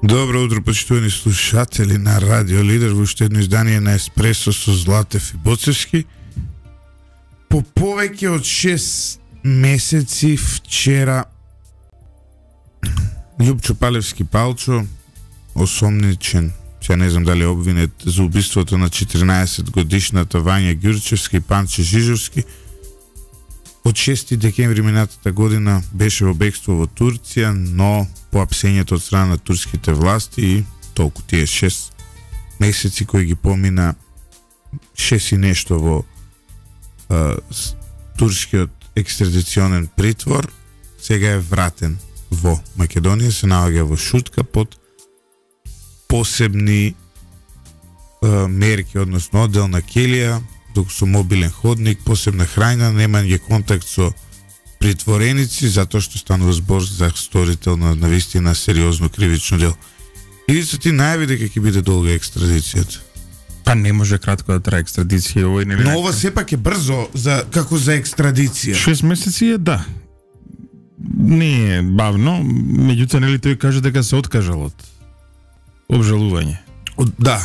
Добро утро, почитувани слушатели на Радио Лидер, во уште едно издание на Еспресо со Златев и Боцевски. По повеќе од 6 месеци вчера Љупчо Палевски Палчо, осомничен, сега не знам дали обвинет за убиството на 14 годишната Вања Ѓурчевски и Панче Жижовски, од 6 декември минатата година беше во бегство во Турција, но по апсењето од страна на турските власти и толку тие 6 месеци кои ги помина 6 и нешто во турскиот екстрадиционен притвор, сега е вратен во Македонија, се наоѓа во Шутка под посебни мерки, односно одделна келија, со мобилен ходник, посебна храјна, немање контакт со притвореници, затоа што станува збор за сторител на навистина сериозно кривично дело. Или се ти најави дека ќе биде долга екстрадицијата? Па не може кратко да трае екстрадиција овој нели. Но ова сепак е брзо за како за екстрадиција. 6 месеци е да. Не е бавно, меѓутоа нели тој каже дека се откажал од обжалување. Да.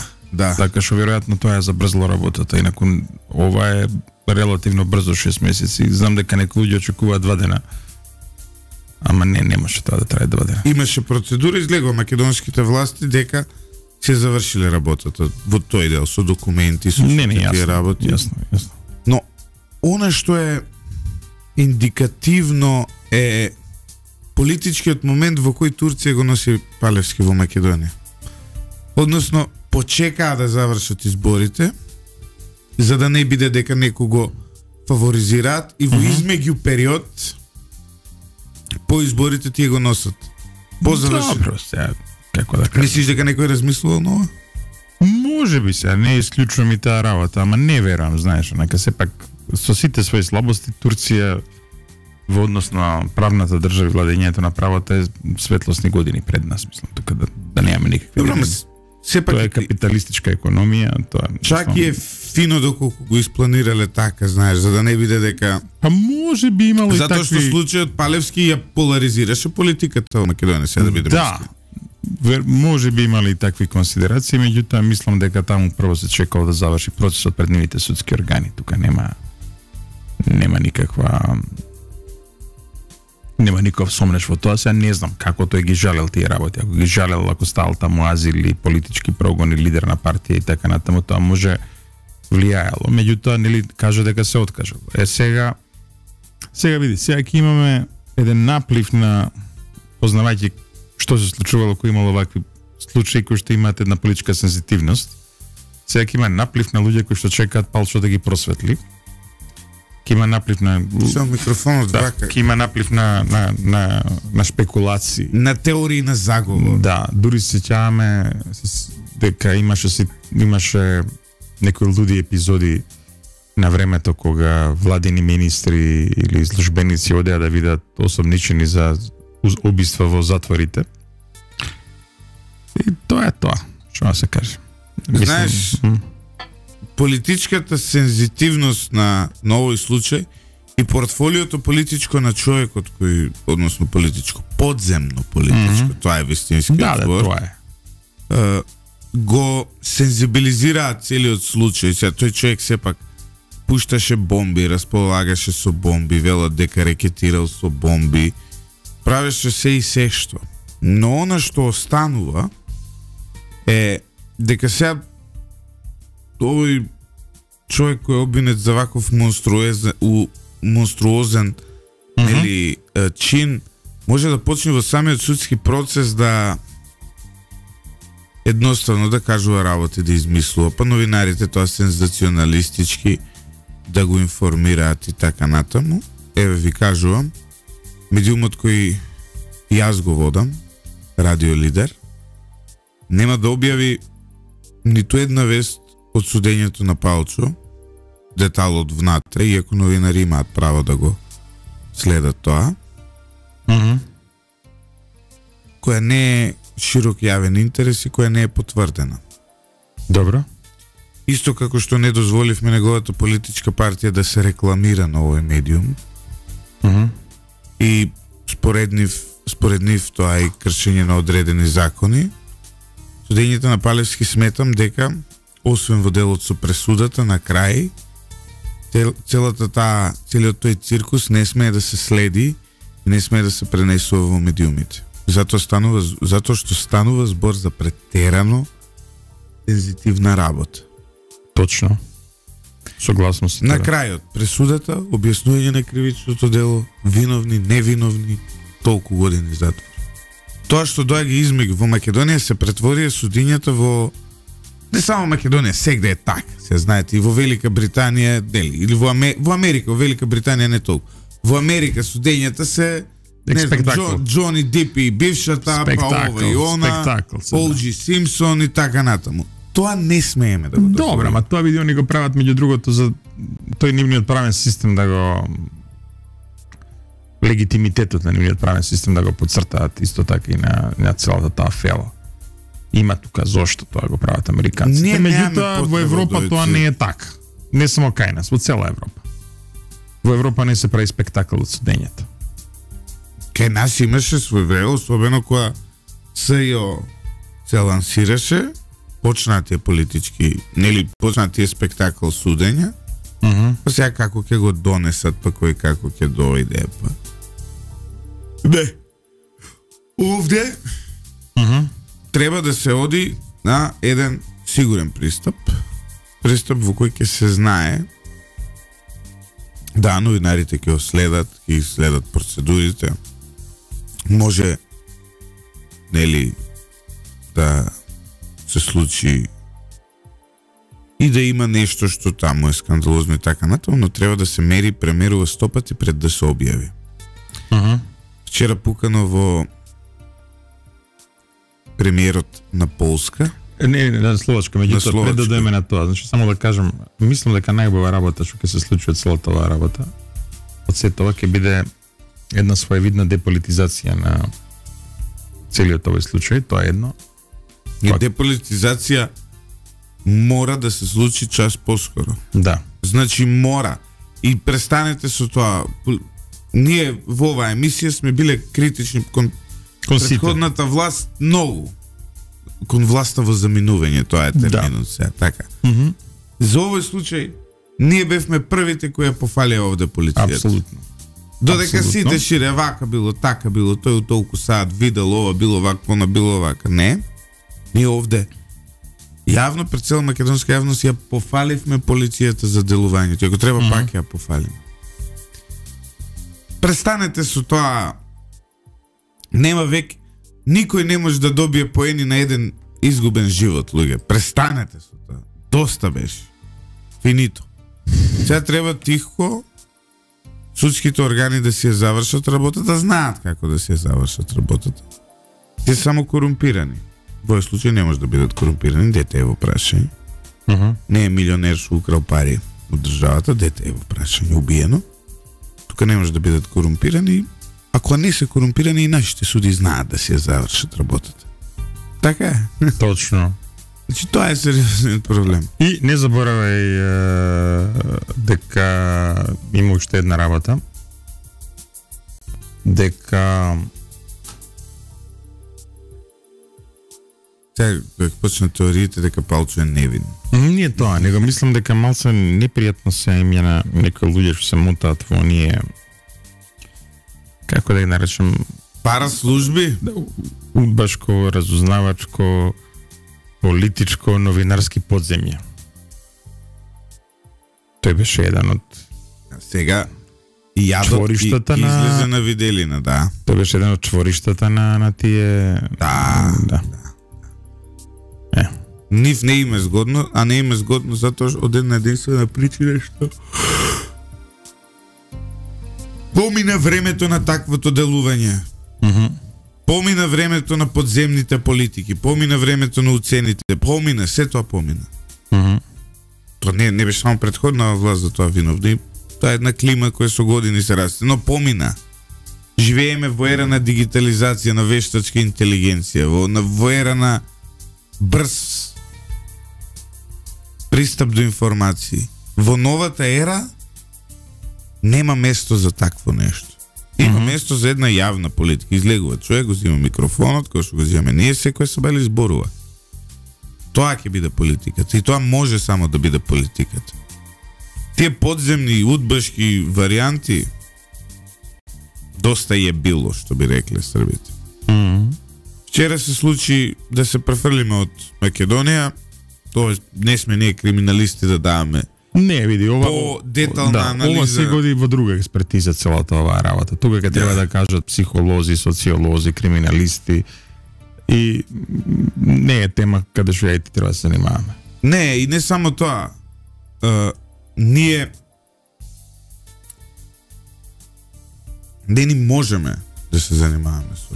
Така што веројатно тоа е забрзало работата, инаку ова е релативно брзо 6 месеци. Знам дека некои луѓе очекуваат 2 дена. Ама не може тоа да трае 2 дена. Имаше процедура, излегува македонските власти дека се завршиле работата во тој дел со документи, со тие работи. Јасно. Но она што е индикативно е политичкиот момент во кој Турција го носи Палевски во Македонија. Односно, почекаа да завршат изборите, за да не биде дека некој го фаворизираат и во измеѓу период по изборите тие го носат. Добро, сега, како да кажам. Мислиш дека некој размислувал на ова? Може би сега, не исклучувам и таа работа, ама не верувам, знаеш, нека сепак со сите своји слабости Турција во однос на правната држава и владењето на правото е светлосни години пред нас, мислам, така да немаме никакви проблеми. Тоа е капиталистичка економија, тоа. Чак и е фино доколку го испланирале така, знаеш, за да не биде дека. Па може би имало и такви. Затоа што случајот Палевски ја поларизираше политиката во Македонија, сега да бидеме. Да. Може би имали и такви консидерации, меѓутоа мислам дека таму прво се чекало да заврши процесот пред нивните судски органи. Тука нема никаков сомнеш во тоа. Сега не знам како тој ги жалел тие работи. Ако ги жалел, ако стал таму азил или политички прогон или лидер на партија и така натаму, тоа може влијаело. Меѓутоа нели кажа дека се откажал. Сега види, сега ќе имаме еден наплив на, познавајќи што се случувало кој имало вакви случаи кои што имаат една политичка сензитивност. Сега ќе има наплив на луѓе кои што чекаат Палчо да ги просветли. Ќе има наплив на микрофонот вака. Ќе има наплив на спекулации, на теории на заговор. Да, дури се сеќаваме дека имаше некои луди епизоди на времето кога владени министри или службеници одеа да видат осомничени за убиства во затворите. И тоа е тоа, што се каже. Знаеш, политичката сензитивност на овој случај и портфолиото политичко на човекот кој, односно политичко, подземно политичко, тоа е вистинскиот збор. Тоа е. Го сензибилизираат целиот случај. Сега тој човек сепак пушташе бомби, располагаше со бомби, велат дека рекетирал со бомби, правеше се и се што. Но она што останува е дека сега овој човек кој е обвинет за ваков монструозен нели чин може да почне во самиот судски процес да едноставно да кажува работи, да измислува, па новинарите тоа сензационалистички да го информираат и така натаму. Еве ви кажувам, медиумот кој јас го водам, Радио Лидер, нема да објави ниту една вест од судењето на Палчо, деталот внатре, иако новинари имаат право да го следат тоа, која не е широк јавен интерес и која не е потврдена. Добро. Исто како што не дозволивме неговата политичка партија да се рекламира на овој медиум. И според нив тоа е кршење на одредени закони, Судењето на Палевски сметам дека освен во делот со пресудата на крај, целиот тој циркус не смее да се следи и не смее да се пренесува во медиумите. Затоа што станува збор за претерано сензитивна работа. Точно. Согласно со На тебе. крајот, пресудата, објаснување на кривичното дело, виновни, невиновни, толку години затвор. Тоа што доаѓа измеѓу во Македонија се претворија судињата во не само Македонија, сегде е така. Се знаете и во Велика Британија, или во Америка, во Велика Британија не толку. Во Америка судењата се Џони Дип и бившата, па ова и она, Олџи Симпсон и така натаму. Тоа не смееме да го дозволиме. Добро, ма тоа видео ни го прават меѓу другото за тој нивниот правен систем да го легитимитетот на нивниот правен систем да го подцртаат исто така и на целата таа фела. Има тука зошто тоа го прават американците. Меѓутоа во Европа тоа не е така. Не само кај нас, во цела Европа. Во Европа не се прави спектакл од судењата. Кај нас имаше свој време, особено кога СЈО се лансираше, почнаа тие политички, нели почнаа тие спектакл судења, па сега како ќе го донесат, па кој како ќе дојде, па. Не. Овде треба да се оди на еден сигурен пристап во кој ќе се знае да новинарите ќе следат процедурите. Може нели да се случи и да има нешто што таму е скандалозно и така натаму, но треба да се премерува 100 пати пред да се објави. Вчера пукано во премиерот на Полска. Не, на Словачка, меѓутоа пред да дојдеме на тоа, значи само да кажам, мислам дека најубава работа што ќе се случи од целата оваа работа, од се тоа ќе биде една своевидна деполитизација на целиот овој случај, тоа е едно. И деполитизација мора да се случи час поскоро. Да. Значи мора. И престанете со тоа. Ние во оваа емисија сме биле критични кон претходната власт многу. Кон власта во заминување, тоа е терминот сега, така. За овој случај ние бевме првите кои ја пофалија овде полицијата. Апсолутно. Додека сите шире вака било, така било, тој толку саат видел ова, било вака, она било вака. Не. Ние овде јавно пред цела македонска јавност ја пофаливме полицијата за делувањето. Ако треба пак ја пофалиме. Престанете со тоа. Нема век, никој не може да добие поени на еден изгубен живот, луѓе. Престанете со тоа. Доста беше. Финито. Сега треба тихо судските органи да си ја завршат работата, да знаат како да си ја завршат работата. Те само корумпирани. Во овој случај не може да бидат корумпирани, дете е во прашање. Не е милионер што украл пари од државата, дете е во прашање, убиено. Тука не може да бидат корумпирани. Ако не се корумпирани, и нашите суди знаат да си ја завршат работата. Така е. Точно. Значи тоа е сериозниот проблем. И не заборавај дека има уште една работа. Дека Сега почна теориите дека Палчо е невин. Не тоа, него мислам дека малце непријатно се имја на некои луѓе што се мутаат во оние, како да ги наречем, параслужби, удбашко, разузнавачко, политичко, новинарски подземја. Тој беше еден од сега јадот излезе на виделина, да. Тој беше еден од чвориштата на тие. Да. Нив не им е згодно, а не им е згодно затоа од една единствена причина што помина времето на таквото делување. Помина времето на подземните политики, помина времето на уцените, помина, се тоа помина. Тоа не беше само претходна власт за тоа виновни, тоа е една клима која со години се расте, но помина. Живееме во ера на дигитализација, на вештачка интелигенција, во ера на брз пристап до информации. Во новата ера нема место за такво нешто. Има место за една јавна политика. Излегува човек, го зима микрофонот, кој што го зимаме ние, секој се бали зборува. Тоа ќе биде политиката и тоа може само да биде политиката. Тие подземни удбашки варијанти доста е било, што би рекле србите. Вчера се случи да се префрлиме од Македонија, тоа не сме ние криминалисти да даваме. Не, види, ова по детална анализа. Ова се годи во друга експертиза целата оваа работа. Тука ќе треба да кажат психолози, социолози, криминалисти и не е тема каде што ја и ти треба да се занимаваме. Не, и не само тоа. Ние не ни можеме да се занимаваме со.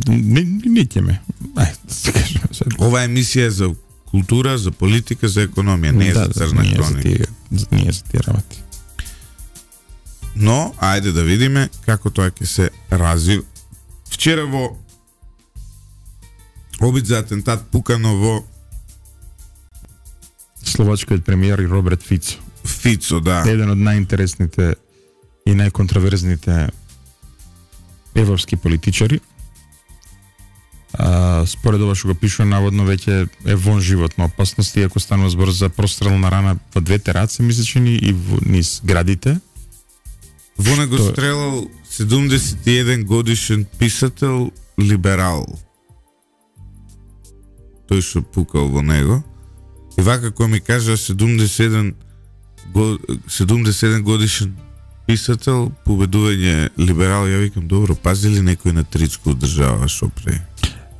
Не ќеме. Ај, да се кажеме сега. Ова емисија е за култура, за политика, за економија, не е за црна хроника. Ние за тие работи. Но, ајде да видиме како тоа ќе се развива. Вчера во обид за атентат пукано во словачкиот премиер Роберт Фицо. Фицо, да. Еден од најинтересните и најконтроверзните европски политичари. Според ова што го пишува, наводно веќе е вон животна опасност, иако станува збор за прострелна рана во двете раце, мислечени и низ градите. Вона го стрелал 71 годишен писател либерал. Тој што пукал во него. И вака кој ми кажа 71 годишен писател, победување либерал, ја викам, добро, пази ли некој на тричко одржава шо пре?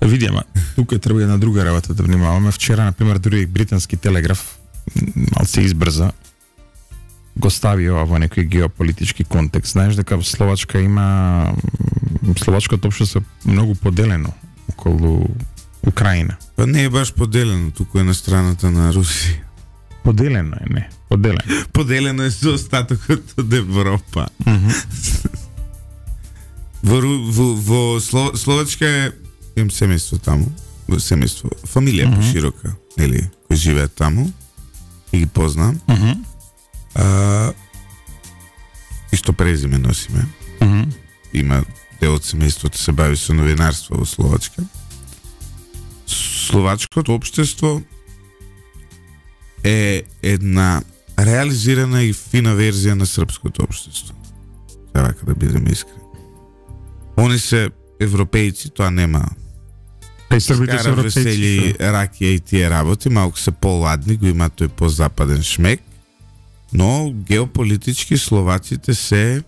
Видиме, тука треба една друга работа да внимаваме. Вчера, например, дури британски телеграф малце избрза го стави ова во некој геополитички контекст. Знаеш дека Словачка има словачкото општество многу поделено околу Украина. Па не е баш поделено, туку е на страната на Русија. Поделено е, не. Поделено. Поделено е со остатокот од Европа. Во Словачка е имам семејство таму, семејство, фамилија поширока, нели, кои живеат таму и ги познам. Исто презиме носиме. Има дел од семејството се бави со новинарство во Словачка. Словачкото општество е една реализирана и фина верзија на српското општество. Треба да бидем искрени. Они се европејци, тоа нема. Србите се весели, ракија и тие работи, малку се поладни, го има тој по-западен шмек, но геополитички словаците се,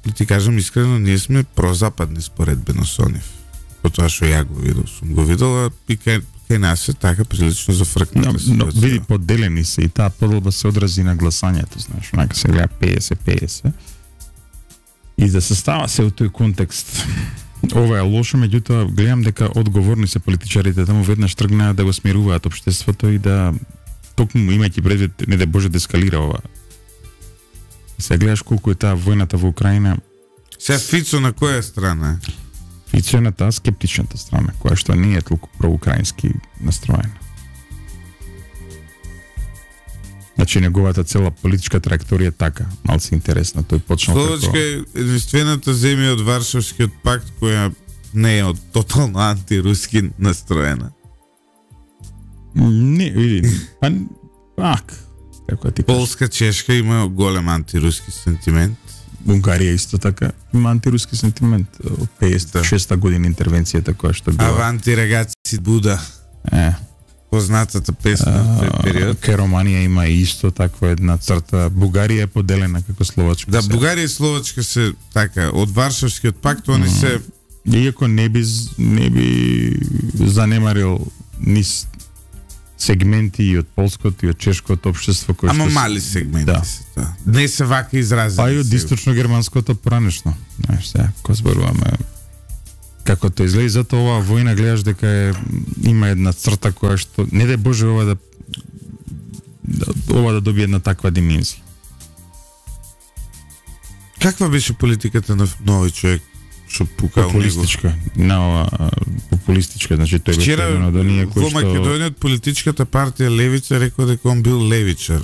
да ти кажам искрено, ние сме прозападни според Беносонев. По тоа што ја го видел, сум го видела и кај нас е така прилично зафркната ситуација. Но види, поделени се и таа поделба се одрази на гласањето, знаеш, онака се гледа 50-50. И да се става се во тој контекст. Ова е лошо, меѓутоа гледам дека одговорни се политичарите таму веднаш тргнаа да го смируваат општеството и да токму имајќи предвид не да Боже да ескалира ова. Се гледаш колку е таа војната во Украина. Се Фицо на која страна? Фицо е на таа скептичната страна, која што не е толку проукраински настроена. Значи неговата цела политичка траекторија е така, малце интересна. Тој почнал Словачка е единствената земја од Варшавскиот пакт која не е од тотално антируски настроена. Не, види, пак, како ти кажа. Полска, Чешка има голем антируски сентимент. Унгарија исто така има антируски сентимент. 56-та година интервенцијата која што била. Аванти рагаци Буда. Познатата песна во тој период. Кај Романија има исто таква една црта. Бугарија е поделена како Словачка. Да, Бугарија и Словачка се така од Варшавскиот пакт, они се иако не би занемарил низ сегменти и од полското и од чешкото општество кој ама мали сегменти да. се тоа. Не се вака изрази. Па и од источно-германското поранешно. Знаеш сега, кој зборуваме како тоа изгледа, затоа оваа војна гледаш дека има една црта која што не да Боже ова да добие една таква димензија. Каква беше политиката на нови човек што пукал популистичка, популистичка, значи тој беше еден од оние кои што во Македонија политичката партија Левица рекол дека он бил левичар.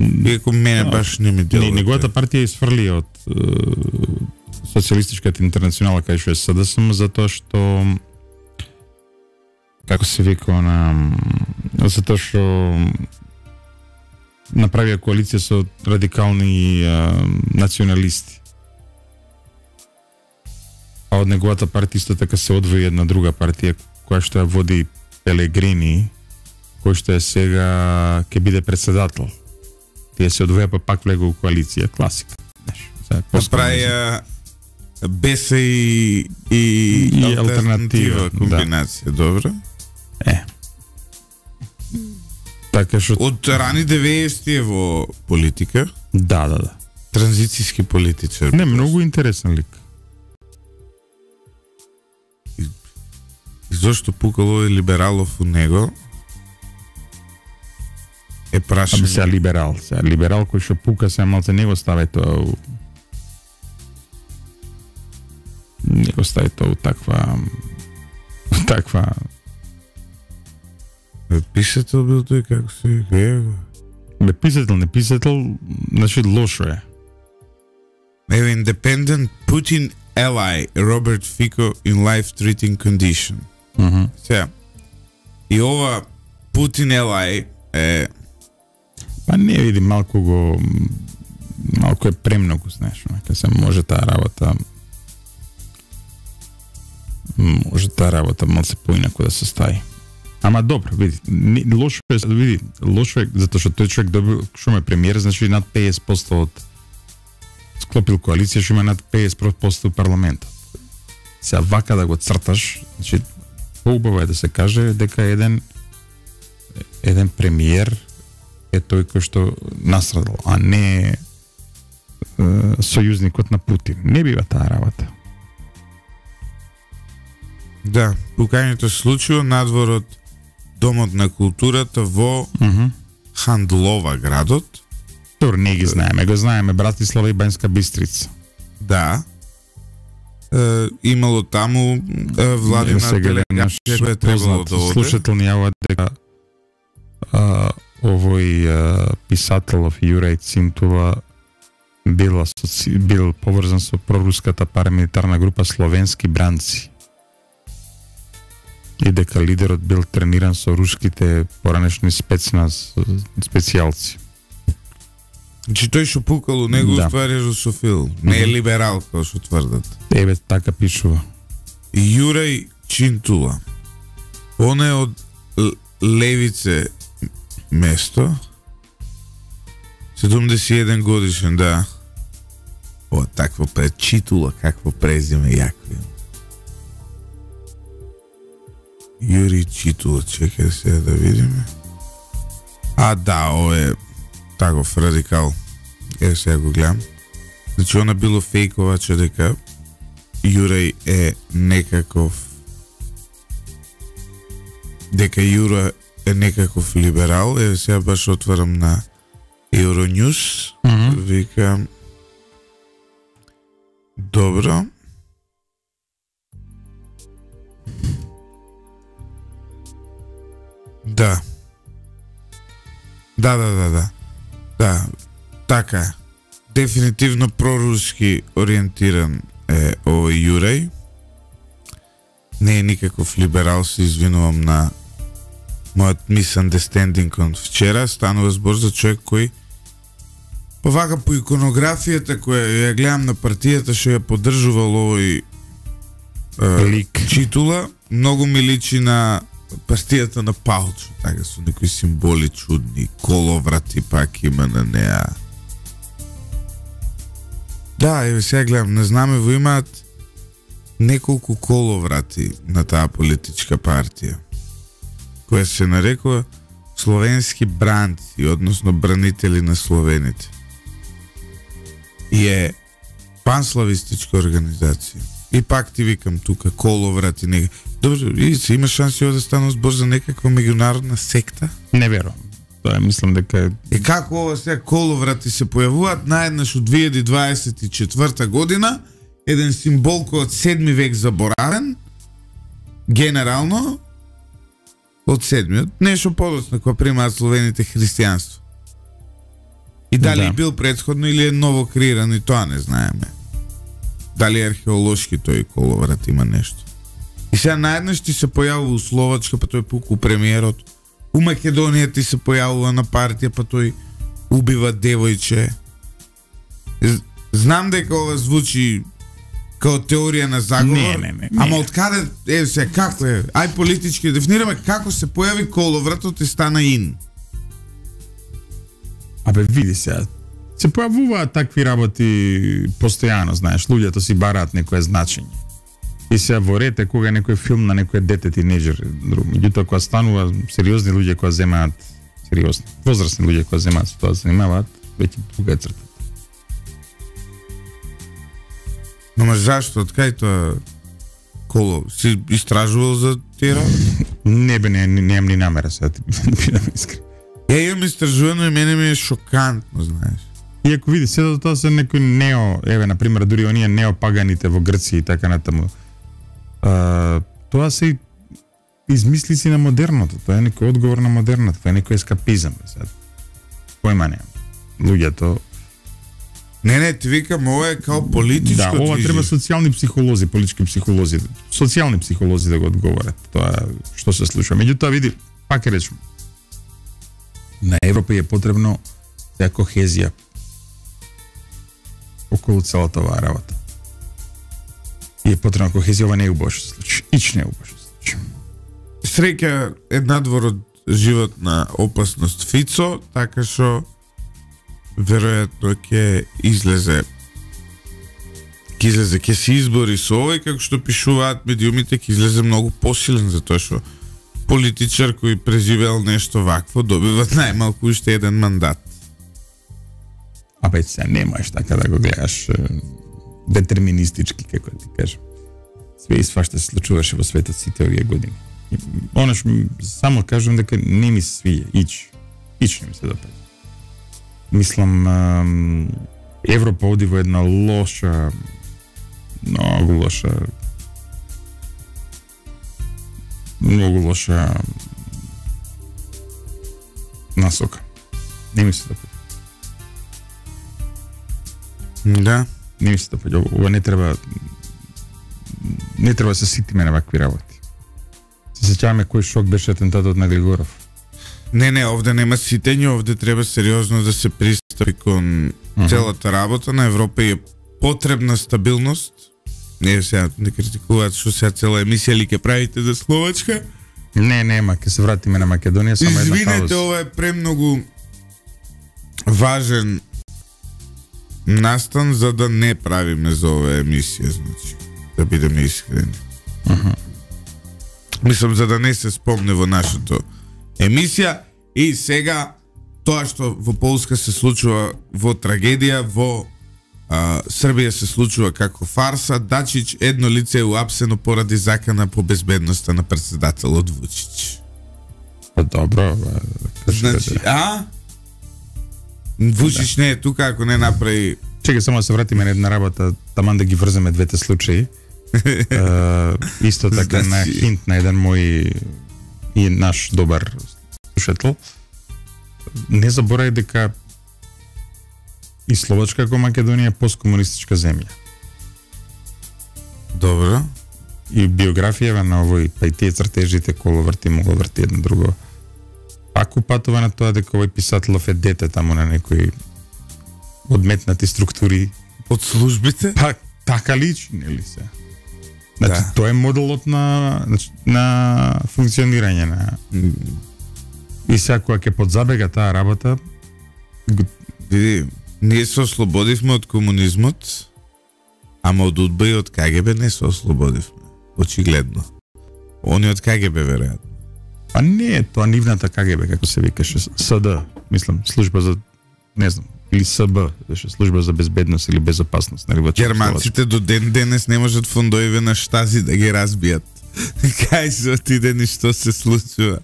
Иако мене баш не ми делува. Неговата партија изфрли од Социјалистичката интернационала кај што е СДСМ затоа што како се вика затоа што направија коалиција со радикални националисти. А од неговата партија исто така се одвои една друга партија која што ја води Пелегрини, кој што е сега ќе биде председател. Тие се одвоја па пак влегу у коалиција, класика. Направија БЕС и алтернатива комбинација, да. Добро. Така што од рани 90-ти во политика. Да. Транзицијски политичар. Не, многу интересен лик. И зошто пукало е либералов у него? Е прашање. Сега либерал кој што пука се малце него стави тоа него стави тоа таква писател бил тој, како се вика? Не писател, значи лошо е. Еве Independent Putin ally Robert Fico in life-threatening condition. Сега, и ова Putin ally е... Па не види, малку е премногу, знаеш, нека се може таа работа малце поинаку да се стави. Ама добро, види, лошо е, затоа што тој човек добил, што ме премиер, значи над 50% од склопил коалиција, што има над 50% од парламентот. Сега вака да го црташ, значи поубаво е да се каже дека еден премиер е тој кој што настрадал, а не сојузникот на Путин. Не бива таа работа. Да, пукањето се случило надвор од Домот на културата во Хандлова градот. Добро, не ги знаеме. Го знаеме Братислава и Банјска Бистрица. Да. Имало таму владина делегација која требало да оде. Слушател ни јавува дека овој писателов Јурај Цинтула бил поврзан со проруската парамилитарна група Словенски бранци. И дека лидерот бил трениран со руските поранешни специјалци. Значи тој што пукал у него уствари русофил, не е либерал, како што тврдат. Еве, така пишува. Јурај Чинтула. Он е од левице место. 71 годишен, да. О, такво Читула, какво презиме јако има. Јури Читула, чекај сега да видиме. А, да, ово е таков радикал. Ево сега го гледам. Значи, она било фейковаче дека Јурај е некаков либерал. Ево сега баш отварам на Euronews. Викам добро. Да. Да. Така. Дефинитивно проруски ориентиран е овој Јурај. Не е никаков либерал, се извинувам на мојот misunderstanding од вчера. Станува збор за човек кој повака по иконографијата која ја гледам на партијата што ја поддржувал овој Читула, многу ми личи на партијата на Палчо, така со некои символи чудни, коловрати пак има на неа. Да, еве сега гледам, на знамево имаат неколку коловрати на таа политичка партија, која се нарекува Словенски бранци, односно бранители на словените. И е панславистичка организација. И пак ти викам тука коловрати нега. Добро, видите, има шанси да станува збор за некаква меѓународна секта? Не верувам. Тоа мислам дека како ова сега коловрати се појавуваат наеднаш од 2024 година, еден символ кој од 7 век заборавен, генерално од 7-миот, нешто подоцна кога примаат словените христијанство. И дали бил претходно или е ново креиран, и тоа не знаеме. Дали археолошки тој коловрат има нешто. И сега наеднаш ти се појавува у Словачка, па тој пуку премиерот. У Македонија ти се појавува на партија, па тој убива девојче. Знам дека ова звучи као теорија на заговор. Не. Ама од каде се како е? Ај политички дефинираме како се појави коловратот и стана ин. Абе види сега. Се појавуваат такви работи постојано, знаеш, луѓето си бараат некое значење. И се во ред е кога некој филм на некој дете тинеџер, меѓутоа кога станува сериозни луѓе кои земаат сериозни, возрастни луѓе кои земаат со тоа занимаваат, веќе тука е цртата. Но зашто, од кај тоа коло? Си истражувал за тие работи? Немам ни намера сега, ти бидам искрен. Ја имам истражувано и мене ми е шокантно, знаеш. Иако види, седо тоа се некои например, дури оние неопаганите во Грција и така натаму. Тоа се измислици на модерното, тоа е некој одговор на модерното, тоа е некој ескапизам. Појма немам. Луѓето... Не, ти викам, ова е као политичко движење. Да, ова движење. треба социјални психолози, политички психолози, социјални психолози да го одговорат тоа што се случува. Меѓутоа, види, пак е речем, на Европа е потребно кохезија околу целата оваа работа. И е потребна кохезија, ова не е убаво што се случи. Ич не е убаво што се случи. Среќа е надвор од животна опасност Фицо, така што веројатно ќе излезе ќе се избори со овој, како што пишуваат медиумите, ќе излезе многу посилен, затоа што политичар кој преживеал нешто вакво добива најмалку уште еден мандат. Абе, сега не можеш така да го гледаш детерминистички, како ти кажам. Све и свашта се случуваше во светот сите овие години. Онаш, само кажам дека не ми се свија, ич не ми се допаѓа. Мислам, Европа оди во една лоша, многу лоша насока. Не ми се допаѓа. Да. Не ми се допаѓа. Ова не треба да се ситиме на вакви работи. Се сеќаваме кој шок беше атентатот на Григоров. Не, овде нема ситење, овде треба сериозно да се пристапи кон целата работа. На Европа е потребна стабилност. Не, сега не критикуваат што сега цела емисија ли ќе правите за Словачка. Нема, ќе се вратиме на Македонија, само една пауза. Извинете, ова е премногу важен настан за да не правиме за оваа емисија, значи, да бидеме искрени. Мислам, за да не се спомне во нашата емисија. И сега тоа што во Полска се случува во трагедија, во Србија се случува како фарса. Дачич едно лице е уапсено поради закана по безбедноста на председателот Вучич. Па добро, значи, Вучич не е тука ако не направи. Чекај само да се вратиме на една работа, таман да ги врземе двете случаи. Исто така на хинт на еден мој и наш добар слушател. Не заборај дека и Словачка како Македонија е посткомунистичка земја. Добро. И биографијава на овој, па и тие цртежите коловрти могло врти едно друго. Пак упатува на тоа дека овој писателов е дете таму на некои одметнати структури од службите. Па така личи, нели се? Значи, тоа е моделот на функционирање на... И сега кога ќе подзабега таа работа... Види, ние се ослободивме од комунизмот, ама од УДБА и од КГБ не се ослободивме. Очигледно. Они од КГБ, веројатно. Па не е тоа нивната КГБ, како се викаше, СД, мислам, служба за, не знам, или СБ, служба за безбедност или безопасност. Германците до ден денес не можат фондоиве на Штази да ги разбијат. Кај се отидени што се случува.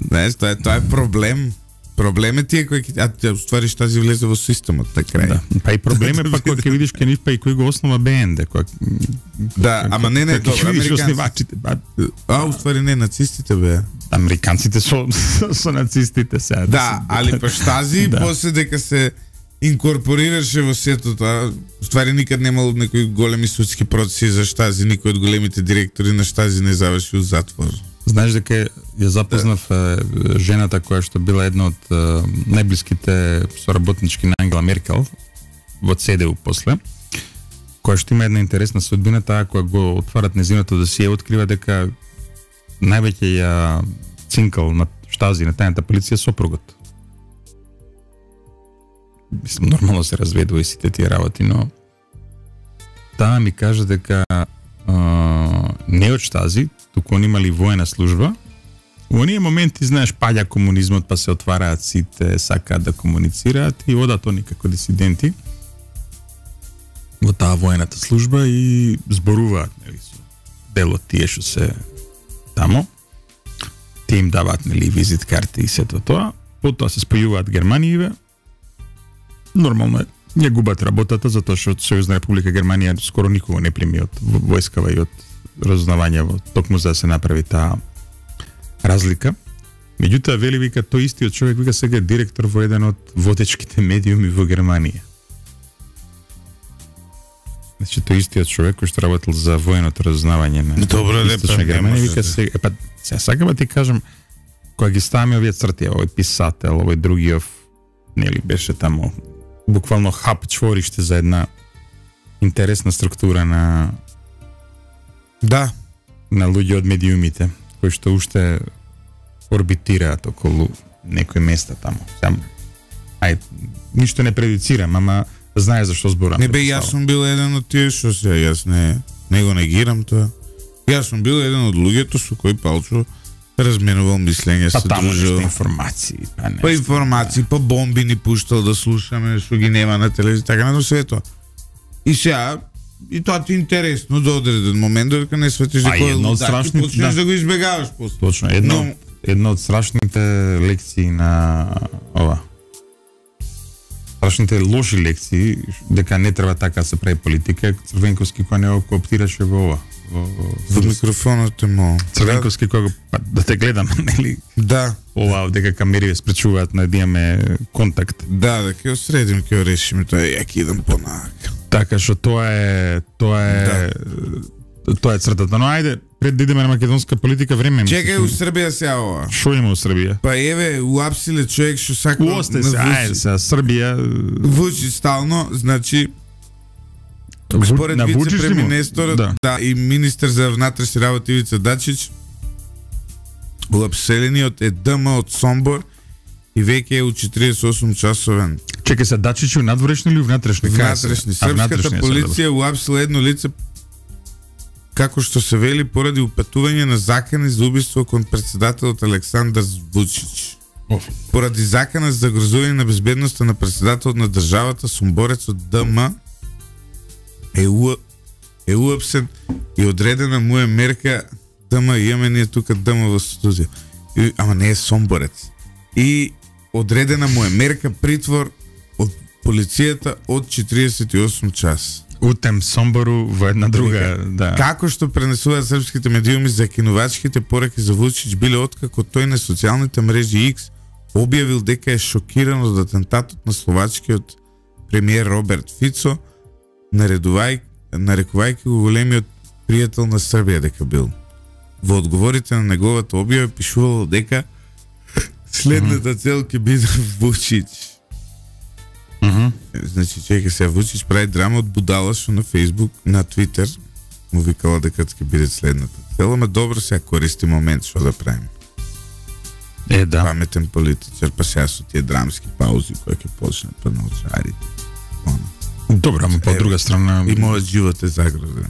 Знаеш, тоа е проблем. Проблем е тие кои ќе уствари Штази влезе во системот на крај. Да. Па и проблем е па кога ќе видиш кај нив па и кој го основа БНД, кој... Да, ама не добро, американците. Уствари не нацистите бе. Американците со нацистите сега. Да, али па Штази после дека се инкорпорираше во сето тоа. Ствари никад немало некои големи судски процеси за Штази, никој од големите директори на Штази не заврши у затвор. Знаеш дека ја запознав жената која што била една од најблиските соработнички на Ангела Меркел во ЦДУ после, која што има една интересна судбина, таа која го отварат незиното досие, открива дека највеќе ја цинкал на Штази, на тајната полиција, сопругот. Мислам, нормално се разведува и сите тие работи, но таа ми кажа дека не од Штази, туку они имали воена служба. Во оние моменти, знаеш, паѓа комунизмот, па се отвараат сите, сакаат да комуницираат и одат они како дисиденти во таа воената служба и зборуваат, нели, со дел од тие што се тамо. Те им даваат, нели, визит карти и сето тоа. Потоа се спојуваат Германије. Нормално е, не губат работата, затоа што Сојузна Република Германија скоро никого не прими од војскава и од разузнавање, токму за да се направи таа разлика. Меѓутоа, вели, вика, тој истиот човек, вика, сега е директор во еден од водечките медиуми во Германија. Значи, тој истиот човек кој што работел за военото разузнавање на Источна Германија, вика, сега, сакам да ти кажам, кога ги ставаме овие црти, овој писател, овој другиот, нели, беше тамо буквално хап чвориште за една интересна структура на луѓе од медиумите, кои што уште орбитираат околу некои места тамо. Ништо не предицирам, ама знае зашто зборам. Не бе, јас сум бил еден од тие што се, јас не го негирам тоа. Јас сум бил еден од луѓето со кои Палчо разменувал мислење, се дружил. Информации. Па информации, па бомби ни пуштал да слушаме, што ги нема на телевизија, така на свето. И сега, и тоа ти е интересно до одреден момент, додека не светиш дека е лудак и почнеш да го избегаваш после. Точно, едно од страшните лекции на страшните лоши лекции, дека не треба така да се прави политика, Црвенковски кој не го кооптираше во ова. Во микрофонот е мо. Црвенковски кога да те гледам, нели? Да. Ова дека камери спречуваат да имаме контакт. Да, ќе осредим, ќе решиме тоа, ја ќе идам понак. Така што тоа е цртата. Но ајде, пред да идеме на македонска политика, време ми. Чекај, у Србија сега ова. Шо има у Србија? Па еве, уапсиле човек што сака на Србија. Вучич стално, значи според вице-премиерот, и министер за внатрешни работи Ивица Дачич, уапселениот е ДМ од Сомбор и веќе е у 48 часовен. Чекај се, Дачич у надворешни или у внатрешни? Внатрешни. Српската полиција уапсила едно лице, како што се вели, поради упатување на закани за убиство кон председателот Александар Вучич. Поради закана за загрозување на безбедноста на председателот на државата, сомборецот ДМ е уапсен и одредена му е мерка. ДМ, имаме ние тука ДМ во студио. Ама не е сомборец. И одредена му е мерка притвор од полицијата од 48 час. Утем Сомбору во една друга, да. Како што пренесуваат српските медиуми, закинувачките пораки за Вучич биле откако тој на социјалните мрежи X објавил дека е шокиран од атентатот на словачкиот премиер Роберт Фицо, нарекувајќи го големиот пријател на Србија дека бил. Во одговорите на неговата објава пишувало дека следната цел ќе биде Вучич. Значи, чека се, Вучич прави драма од будала што на Фейсбук, на Твитер му викала дека ќе биде следната цел, ама добро сега користи момент што да правим. Да. Паметен политичар, па сега со тие драмски паузи кои ќе почнат па на очарите. Добро, ама по друга страна и мојот живот е загрозен.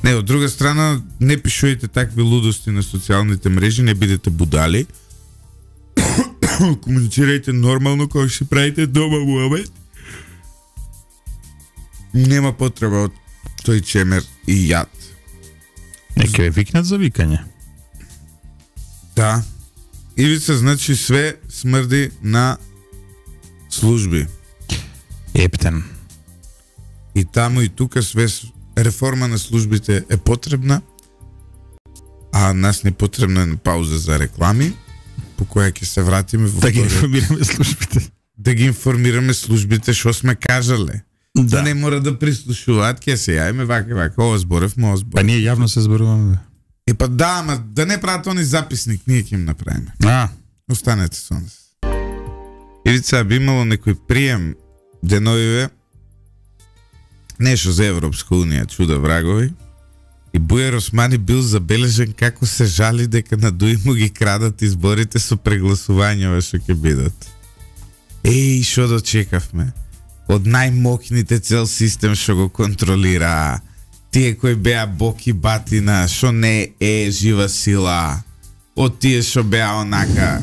Не, од друга страна, не пишувајте такви лудости на социјалните мрежи, не бидете будали. Комуницирајте нормално кога ќе правите дома во обед. Нема потреба од тој чемер и јад. Неке ве викнат за викање. Да. Ивица, значи све смрди на служби. Ептен. И таму и тука све реформа на службите е потребна, а нас не потребна е пауза за реклами. по која ќе се вратиме во Да ги вториот. информираме службите. Да ги информираме службите што сме кажале. Да не мора да прислушуваат, ќе се јајме вака, ова зборев, ова зборев. Па ние јавно се зборуваме. И па да, ама да не прават они записник, ние ќе им направиме. Останете со нас. Ивица, би имало некој прием деновиве, нешто за Европска унија, чуда врагови, и Бујар Османи бил забележен како се жали дека на Дуи му ги крадат изборите со прегласувањава што ќе бидат. Еј, шо дочекавме? Од најмокните цел систем што го контролира, тие кои беа боки батина, што не е жива сила, од тие што беа онака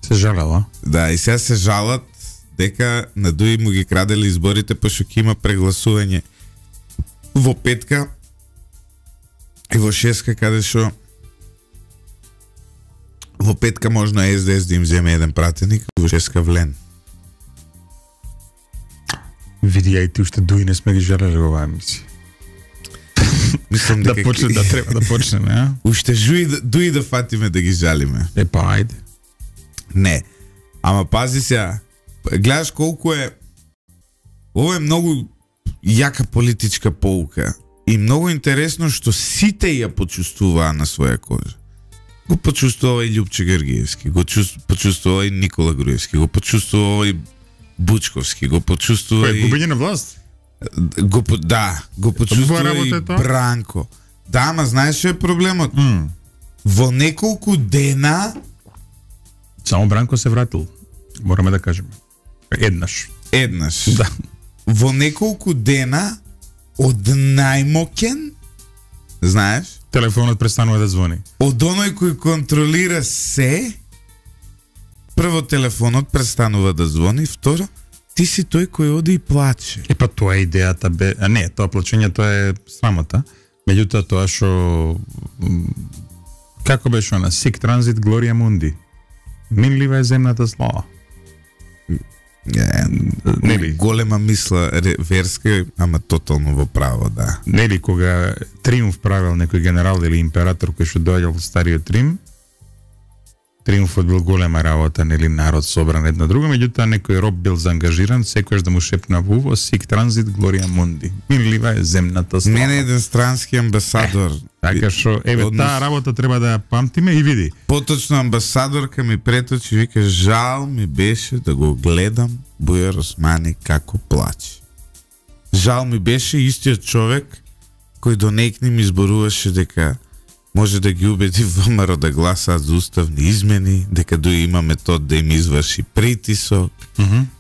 се жалела. Да, и сега се жалат дека на Дуи му ги крадели изборите пошто ќе има прегласување во петка и во шестка, каде што во петка можно СДС да им земе еден пратеник, во шестка влен. Види, и ти уште Дуи не сме ги жалели во оваа емисија. Мислам дека да треба да почнеме, а? Уште Дуи да фатиме да ги жалиме. Па ајде. Не. Ама пази сега, гледаш колку е, ова е многу јака политичка поука и многу интересно што сите ја почувствуваа на своја кожа. Го почувствува и Љупче Георгиевски, го почувствува и Никола Груевски, го почувствува и Бучковски, го почувствува и губење на власт. Го почувствува и Бранко. Да, ама знаеш што е проблемот? Во неколку дена само Бранко се вратил. Мораме да кажеме. Еднаш. Да. Во неколку дена од најмоќен, знаеш? Телефонот престанува да звони. Од оној кој контролира се, прво телефонот престанува да звони, второ, ти си тој кој оди и плаче. Па тоа е идејата бе, а не, тоа плачењето е срамота. Меѓутоа тоа што како беше она Sic Transit Gloria Mundi. Минлива е земната слава. Нели голема мисла верска, ама тотално во право, да. Нели кога Триумф правил некој генерал или император кој што доаѓал во стариот Рим, Триумфот бил голема работа, нели народ собран една друга, меѓутоа некој роб бил заангажиран, секојаш да му шепна во уво Sic Transit Gloria Mundi. Минлива е земната слава. Мене еден странски амбасадор. Така што таа работа треба да ја памтиме и види. Поточно амбасадорка ми преточи, вика, жал ми беше да го гледам Бујар Османи како плаче. Жал ми беше истиот човек кој до некни ми зборуваше дека може да ги убеди ВМРО да гласаат за уставни измени, дека Дуи има метод да им изврши притисок.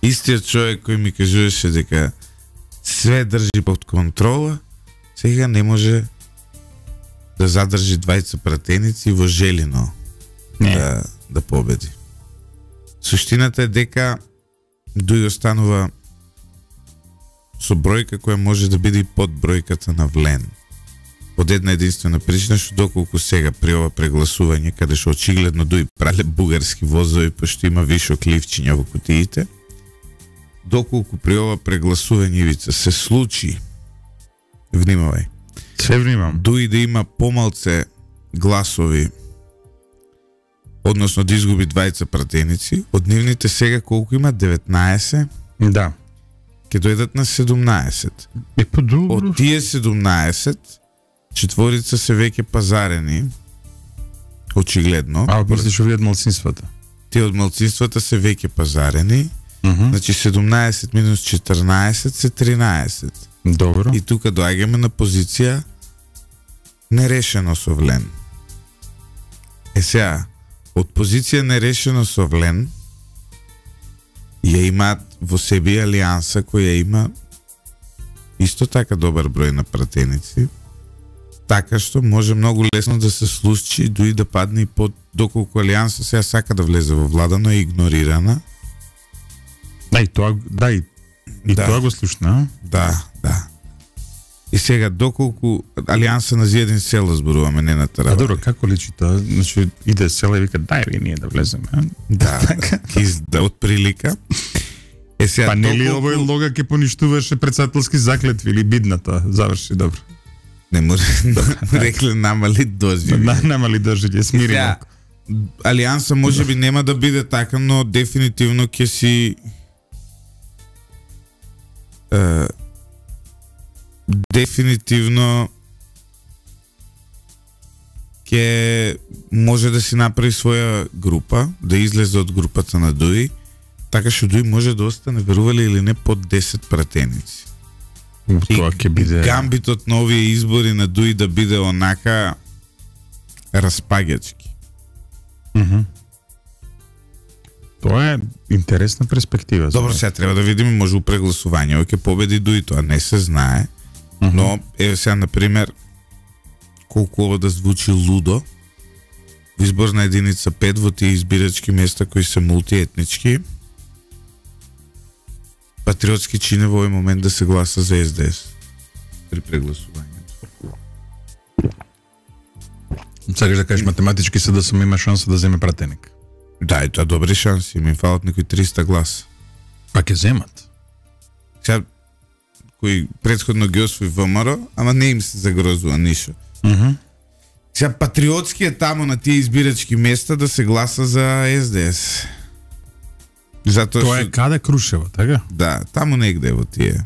Истиот човек кој ми кажуваше дека све држи под контрола, сега не може да задржи двајца пратеници во Желино да победи. Суштината е дека Дуи останува со бројка која може да биде и под бројката на Влен. Од една единствена причина, што доколку сега при ова прегласување, каде што очигледно Дуи прале бугарски возови, пошто има вишок ливчиња во кутиите, доколку при ова прегласување, Ивица, се случи, внимавај, се внимам, Дуи да има помалце гласови, односно да изгуби двајца пратеници, од нивните сега колку има 19? Да. Ке дојдат на 17. Од тие 17, четворица се веќе пазарени, очигледно. А мислиш овие од малцинствата? Тие од малцинствата се веќе пазарени, значи 17 минус 14 се 13. Добро. И тука доаѓаме на позиција нерешено со Влен. Сега, од позиција нерешено со Влен, ја имаат во себе алијанса која има исто така добар број на пратеници, така што може многу лесно да се случи дури да падне и под, доколку алијанса сега сака да влезе во влада, но е игнорирана. Да, и тоа, тоа го слушна. Да. И сега, доколку алијанса на Зиедин села зборуваме, не на Таравали. Добро, како личи тоа? Значи, иде села и вика, дај ние да влеземе. Да, од прилика. Сега, па нели овој лога ќе поништуваше председателски заклетви или бидната? Заврши добро. Не му рекле намали доживење. Намали доживење, смири малку. Алијанса може би нема да биде така, но дефинитивно ќе си дефинитивно ќе може да си направи своја група, да излезе од групата на Дуи, така што Дуи може да остане, верували или не, под 10 пратеници. Тоа ќе биде гамбитот на овие избори на Дуи да биде онака распаѓачки. Тоа е интересна перспектива. Добро, сега треба да видиме, може прегласување, ќе победи Дуи, тоа не се знае. Но еве сега на пример колку ова да звучи лудо, во изборна единица 5 во тие избирачки места кои се мултиетнички, патриотски чине во овој момент да се гласа за СДС при прегласувањето. Сакаш да кажеш математички СДСМ има шанса да земе пратеник? Да, и тоа добри шанси, им фалат некои 300 гласа. Па ќе земат. Сега кои претходно ги освои ВМРО, ама не им се загрозува ништо. Сега патриотски е таму на тие избирачки места да се гласа за СДС. Затоа тоа е каде Крушево, така? Да, таму негде во тие.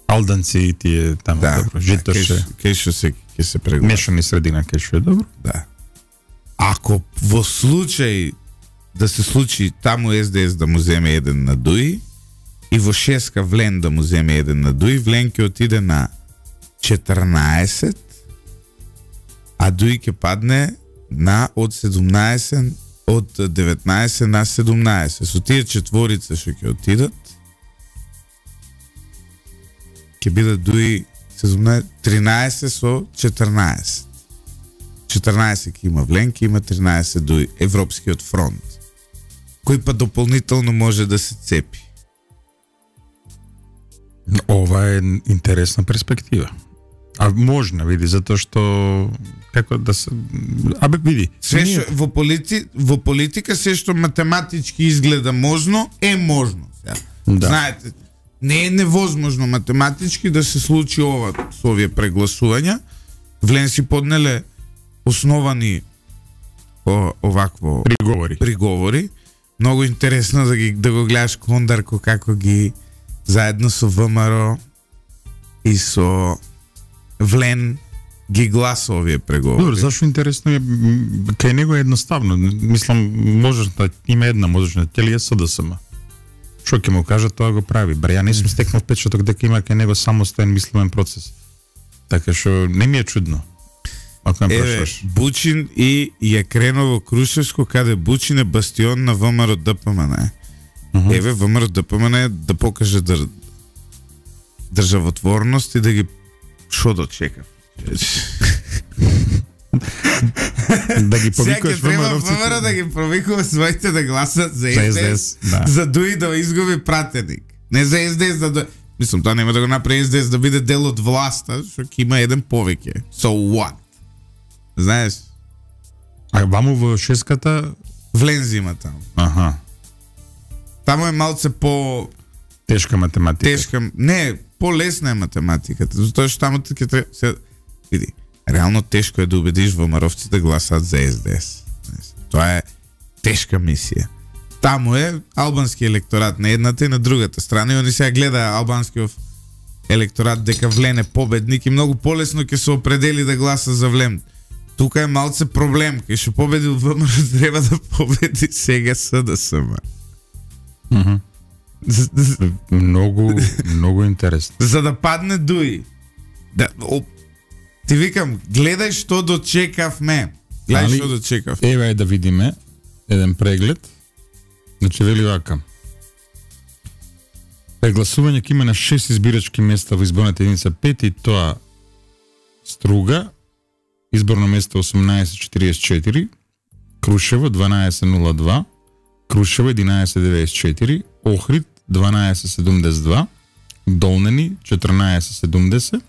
Алданци и тие таму, Да, добро. Житоше. Кај што ќе се прегласа. Мешани средина, кај што е добро. Да. Ако во случај да се случи таму СДС да му земе еден на Дуи и во шеска Влен да му земе еден на Дуи, Влен ќе отиде на 14, а Дуи ќе падне на од 17, од 19 на 17. Со тие четворица што ќе отидат, ќе биде Дуи 17, 13 со 14. 14 ќе има Влен, ќе има 13 Дуи, Европскиот фронт, кој па дополнително може да се цепи. Ова е интересна перспектива. А можна, види, затоа што како да се види. Се што во политика се што математички изгледа можно, е можно. Да. Знаете, не е невозможно математички да се случи ова со овие прегласувања. Влен си поднеле основани овакво приговори. Многу интересно да го гледаш Кондарко како ги заедно со ВМРО и со Влен ги гласа овие преговори. Добро, зашо интересно е, кај него е едноставно. Мислам, можеш да има една, можеш на целиот СДСМ. Што ќе му кажа, тоа го прави. Бре, ја не сум стекнал впечаток дека има кај него самостоен мислемен процес. Така што не ми е чудно. Ако ме прашуваш. Бучин и ја кренува Крушевско, каде Бучин е бастион на ВМРО ДПМН. Еве, ВМРО ДПМН да покаже државотворност и да ги шо дочека. Да ги повикуваш ВМРО да ги повикува своите да гласат за СДС, да. За Дуи да изгуби пратеник. Не за СДС да мислам, тоа нема да го направи СДС да биде дел од власта, што ќе има еден повеќе. So what? Знаеш? А ваму во шеската Влен зима таму. Аха. Таму е малце по тешка математика. Не, по-лесна е математиката, затоа што таму ќе треба види. Реално тешко е да убедиш ВМРО-вци да гласат за СДС. Тоа е тешка мисија. Таму е албански електорат на едната и на другата страна и они сега гледа албанскиот електорат дека Влен е победник и многу полесно ќе се определи да гласа за Влен. Тука е малце проблем, кај што победи ВМРО треба да победи сега СДСМ. Многу интересно. За да падне Дуи. Ти викам, гледај што дочекавме. Гледај што дочекав. Еве е да видиме еден преглед. Значи вели вака. Прегласување ќе има на 6 избирачки места во изборната единица 5 и тоа Струга, изборно место 1844, Крушево 1202, Крушево 1194, Охрид 1272, Долнени 1470,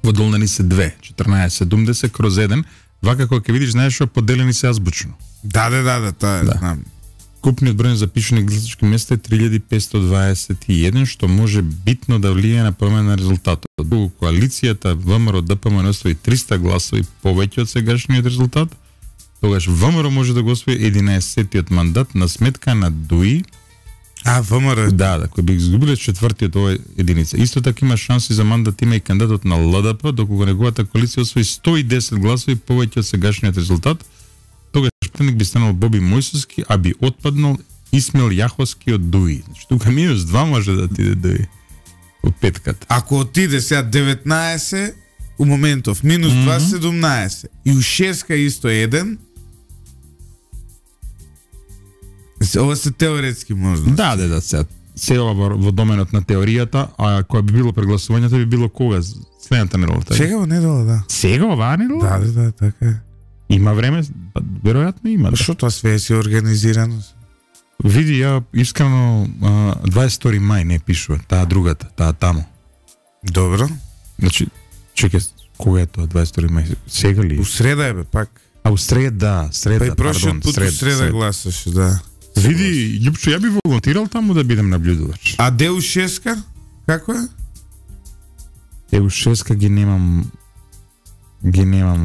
во Долнени се 2, 1470 кроз 1, вака кога ќе видиш, знаеш што поделени се азбучно. Да, тоа е, знам. Купниот број на запишани гласачки места е 3521, што може битно да влијае на промена на резултатот. Доколку коалицијата ВМРО ДПМН освои 300 гласови повеќе од сегашниот резултат, тогаш ВМРО може да го освои 11-тиот мандат на сметка на ДУИ. ВМРО? Да, кој би изгубиле четвртиот овој единица. Исто така има шанси за мандат има и кандидатот на ЛДП, доколку неговата коалиција освои 110 гласови повеќе од сегашниот резултат. Тогаш претендник би станал Боби Мојсовски, а би отпаднал Исмил Јаховски од ДУИ. Значи, тука -2 може да отиде ДУИ од петката. Ако отиде сега 19, у моментов, -2, 17. И у шеска исто 1. Ова се теоретски можности. Да, се ова во доменот на теоријата, а кога би било прегласувањето би било кога? Следната недела. Сега во недела, да. Сега оваа недела? Да, така е. Има време? Веројатно има. Да. Што тоа све е организирано? Види, ја искрено 22 мај не пишува, таа другата, таа таму. Добро. Значи, чекај, кога е тоа 22 мај? Сега ли? У среда е бе, пак. А у среда, Па и прошиот пут у среда гласаше, да. Види, Љупчо, ја би волонтирал таму да бидем наблюдувач. А де у шеска? Како е? У шеска ги немам.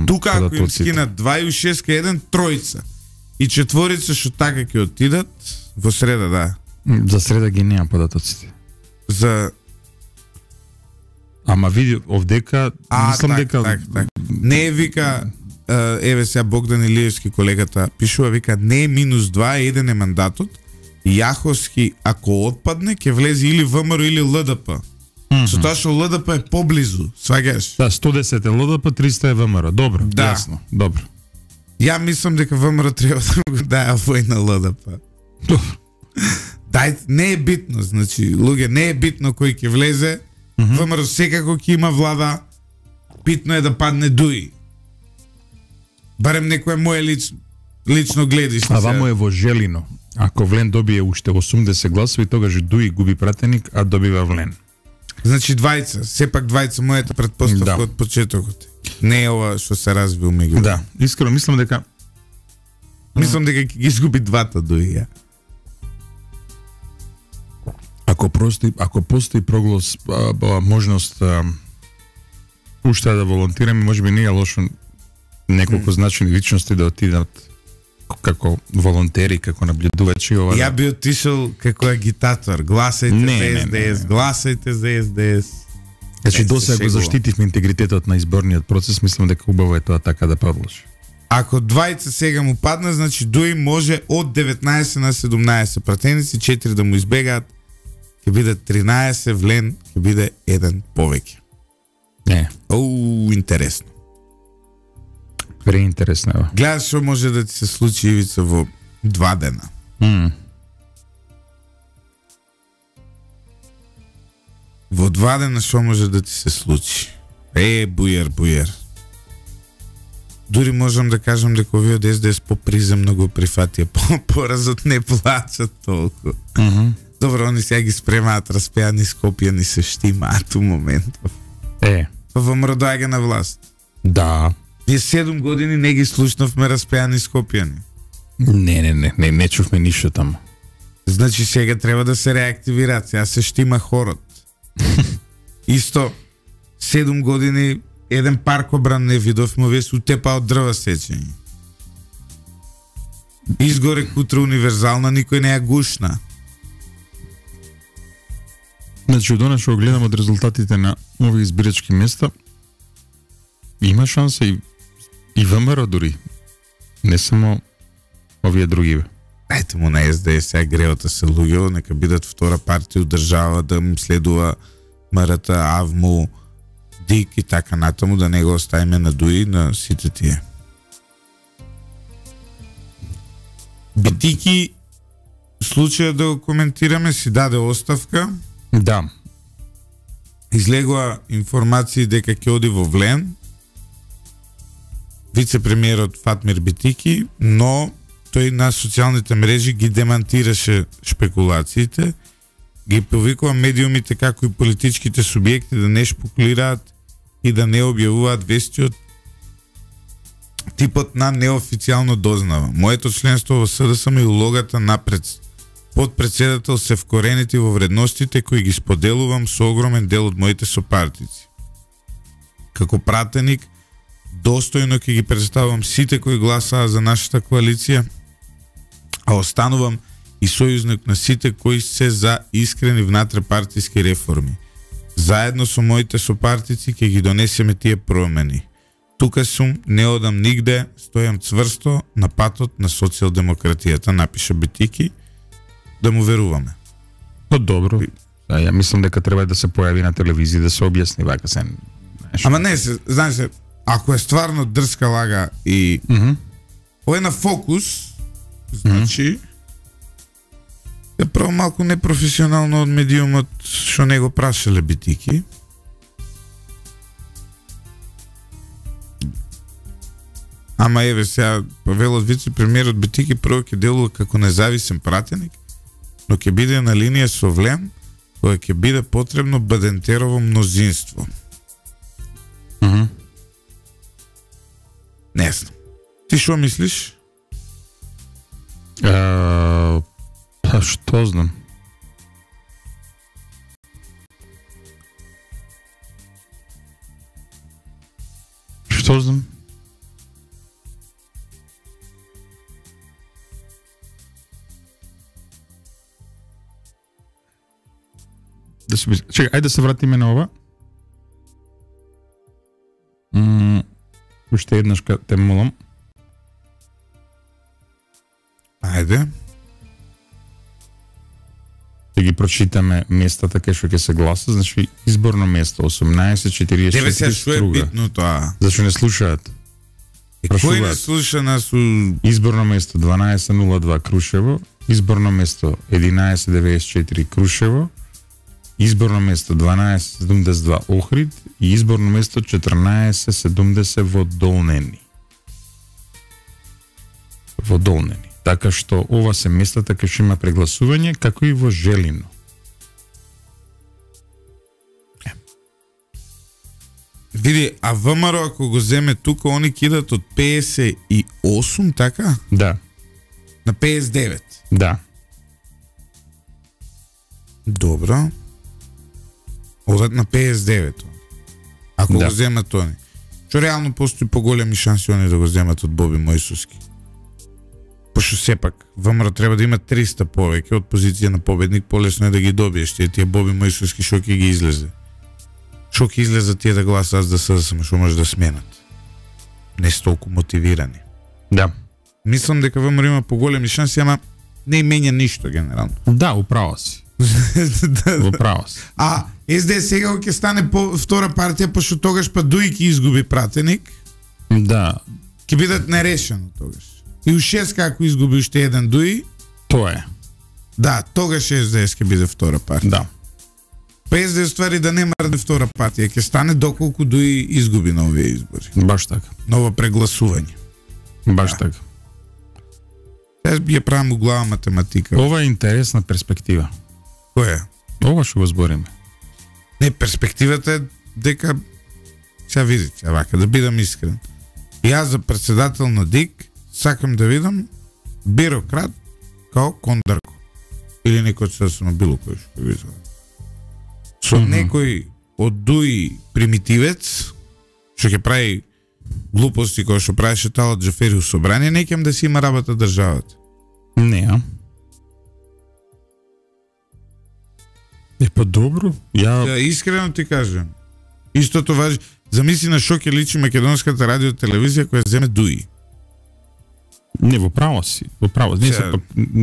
Тука ако им скинат 2 и у шеска 1, тројца. И четворица што така ќе отидат во среда, да. За среда ги немам податоците. За Ама види овдека, мислам дека так. Не е вика еве сега Богдан Илиевски колегата пишува, вика не е -2, 1 е мандатот. Јаховски ако отпадне ќе влезе или ВМРО или ЛДП. Со тоа што ЛДП е поблизу, сваѓаш? Да, 110 е ЛДП, 300 е ВМРО. Добро, да. Јасно, добро. Ја мислам дека ВМРО треба да го даја вој на ЛДП. Дај, не е битно, значи, луѓе, не е битно кој ќе влезе. ВМРО секако ќе има влада. Битно е да падне ДУИ. Барем некое мое лично гледиште. А вамо е во Желино. Ако Влен добие уште 80 гласови, тогаш ДУИ губи пратеник, а добива Влен. Значи двајца, сепак двајца, мојата предпоставка од почетокот. Не е ова што се развил меѓу. Да, искрено мислам дека ќе ги изгуби двата ДУИ. Ако постои проглас можност уште да волонтираме, можеби не е лошо неколку значени личности да отидат како волонтери, како наблюдувачи. Ја би отишол како агитатор. Гласајте за СДС, гласајте за СДС. Значи досега го заштитивме интегритетот на изборниот процес, мислам дека убаво е тоа така да продолжи. Ако двајца сега му падна, значи ДУИ може од 19 на 17 пратеници, 4 да му избегаат, ќе биде 13, Влен ќе биде 1 повеќе. Не. Интересно. Преинтересно е. Гледаш што може да ти се случи, Ивица, во 2 дена. Во 2 дена што може да ти се случи? Бујер. Дури можам да кажам дека овие од СДС поприземно го прифатија, поразот не плачат толку. Добро, они сега ги спремаат распеани Скопјани се штимаат у моментов. Па ВМРО доаѓа на власт. Да. Ние 7 години не ги слушнавме распеани Скопјани. Не чувме ништо таму. Значи сега треба да се реактивираат, сега се штима хорот. Исто 7 години еден паркобран не видовме, овие се утепа од дрва сечење. Изгоре кутра универзална, никој не ја гушна. Значи, од она што гледам од резултатите на овие избирачки места, има шанса и ВМРО дури. Не само овие други. Ајте му на СДС, сега греота се луѓето, нека бидат втора партија од држава, да им следува МРТ, АВМУ, ДИК и така натаму, да не го оставиме на ДУИ на сите тие. Битики, случајот да го коментираме, си даде оставка. Да. Излегува информации дека ќе оди во Влен, вице-премиерот Фатмир Битики, но тој на социјалните мрежи ги демантираше шпекулациите, ги повикува медиумите како и политичките субјекти да не шпекулираат и да не објавуваат вести од типот на неофицијално дознава. Моето членство во СДСМ и улогата на подпредседател се вкоренити во вредностите кои ги споделувам со огромен дел од моите сопартици. Како пратеник, достојно ќе ги представам сите кои гласаа за нашата коалиција, а останувам и сојузник на сите кои се за искрени внатре-партиски реформи. Заедно со моите сопартици ќе ги донесеме тие промени. Тука сум, не одам нигде, стојам цврсто на патот на социјалдемократијата, напиша Битики, да му веруваме. Па добро. Ја мислам дека треба да се појави на телевизија да се објасни вака се. Ама не се, знаеш се, ако е стварно дрска лага и ова е на фокус, значи е право малку непрофесионално од медиумот што не го прашале Битики. Ама еве сега велот вице-премиерот Битики прво ќе делува како независен пратеник, но ќе биде на линија со влем кога ќе биде потребно Бадентерово мнозинство. Не знам. Ти што мислиш? Па што знам? Што знам? Чекај, ајде да се вратиме на ова. Уште еднаш те молам. Ајде. Да ги прочитаме местата кај што ќе се гласа, значи изборно место 1844 Тебе се што е Струга. битно тоа? Зашто не слушаат? Кој не слуша нас у... Изборно место 1202 Крушево, изборно место 1194 Крушево, изборно место 1272 Охрид и изборно место 1470 во Долнени. Во Долнени. Така што ова се местата кај што има прегласување, како и во Желино. Види, а ВМРО ако го земе тука, они кидат од 58, така? Да, На 59. да. Добро. Одат на 59. Ако Да. го земат они. Што реално постои поголеми шанси они да го земат од Боби Мојсовски. Пошто сепак, ВМРО треба да има 300 повеќе од позиција на победник, полесно е да ги добиеш тие Боби Мојсовски што ќе ги излезе. Што ќе излезе тие да гласаат за СДСМ, што може да сменат. Не се толку мотивирани. Да. Мислам дека ВМРО има поголеми шанси, ама не менја ништо генерално. Да, управо си. Управо си. А СДС сега ќе стане втора партија, пошто тогаш па Дуи ќе изгуби пратеник, Да, ќе бидат нерешено тогаш. И ушес како изгуби уште еден Дуи, тоа е. да, тогаш СДС ќе биде втора партија. Да. Па СДС ствари да нема да втора партија, ќе стане доколку Дуи изгуби на овие избори. Баш така. Ново прегласување. Баш Да. така. Јас би ја правам у глава математика. Ова е интересна перспектива. Која? Ова што го збориме. Не, перспективата е дека сега видите, вака да бидам искрен. Јас за председател на ДИК сакам да видам бирократ као Кондарко или некој сосема било кој што го изгледа. Со некој од Дуи примитивец што ќе прави глупости кои што правеше Талат Џафери у собрание, не ќе да си има работа државата. Не, а? Е, па добро. Да, искрено ти кажам. Истото важи. Замисли на што ќе личи македонската радио телевизија која земе Дуи. Не, во право си. Во право. Не, Сега- пак,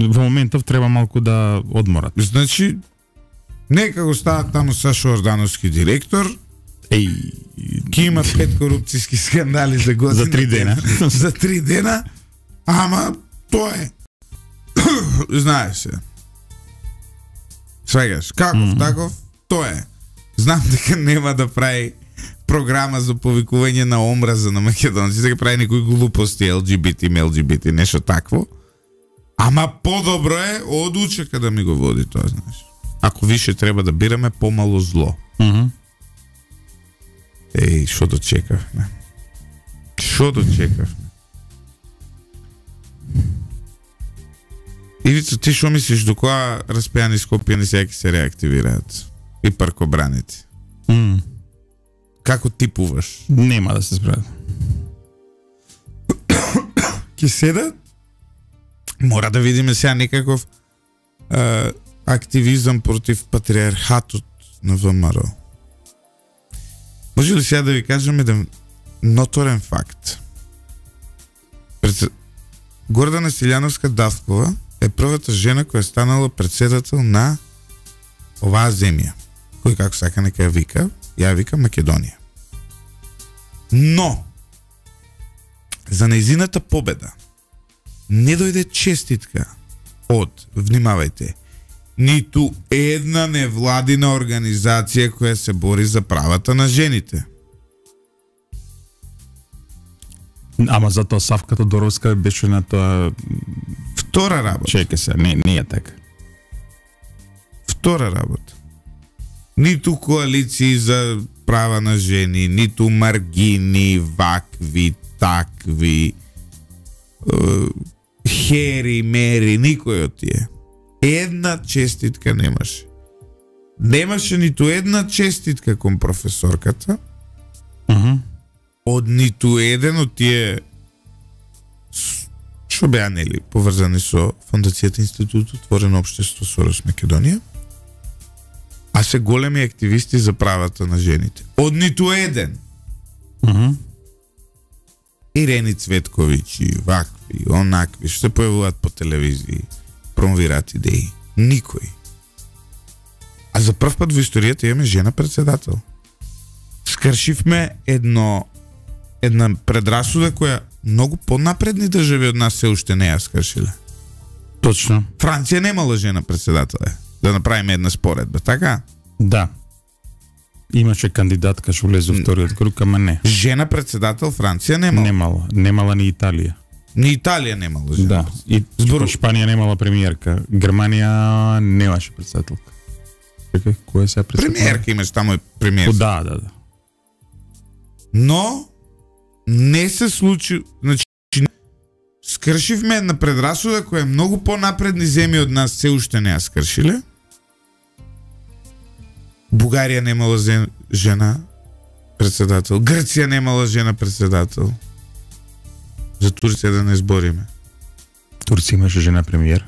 во моментов треба малку да одморат. Значи, нека го стават таму Сашо Ордановски директор, Еј, ќе имат 5 корупцијски скандали за година. За 3 дена. За 3 дена, ама тоа е. Знаеш се. Свегаш, каков таков, тоа е. Знам дека нема да прави програма за повикување на омраза на македонците, дека прави некои глупости, LGBT, нешто такво. Ама подобро е од учека да ми го води тоа, знаеш. Ако више треба да бираме, помало зло. Еј, што дочекавме? Што дочекавме? Ивица, ти шо мислиш, до која распејани Скопјани сега ќе се реактивираат? И паркобраните? Како типуваш? Нема да се справат. Ќе седат? Мора да видиме сега некаков активизам против патриархатот на ВМРО. Може ли сега да ви кажем еден ноторен факт? Гордана Силјановска-Давкова е првата жена која станала председател на оваа земја. Кој како сака нека ја вика, ја вика Македонија. Но за нејзината победа не дојде честитка од, внимавајте, ниту една невладина организација која се бори за правата на жените. Ама затоа Савка Тодоровска беше на тоа Втора работа. Чекај се, не е така. Втора работа. Ниту коалиции за права на жени, ниту маргини, вакви, такви, хери, мери, никој од тие. Една честитка немаше. Немаше ниту една честитка кон професорката, од ниту еден од тие што беа нели поврзани со Фондацијата Институт Отворено општество Сорос Македонија, а се големи активисти за правата на жените. Од ниту еден. Ирени Цветковиќи, вакви, онакви, што се појавуваат по телевизии, промовираат идеи. Никој. А за прв пат во историјата имаме жена председател. Скршивме една предрасуда која многу понапредни држави од нас се уште не ја скршиле. Точно. Франција немала жена председател. Да направиме една споредба, така? Да. Имаше кандидатка што влезе во вториот круг, ама не. Жена председател Франција немала. Немала ни Италија. Ни Италија немала жена. Да. И Шпанија немала премиерка. Германија немаше председателка. Чекај, која се председател? Премиерка имаш таму премиер. Да. Но не се случи, значи скршивме една предрасуда која многу понапредни земји од нас се уште не ја скршиле. Бугарија немала жена председател, Грција немала жена председател. За Турција да не збориме. Турција имаше жена премиер.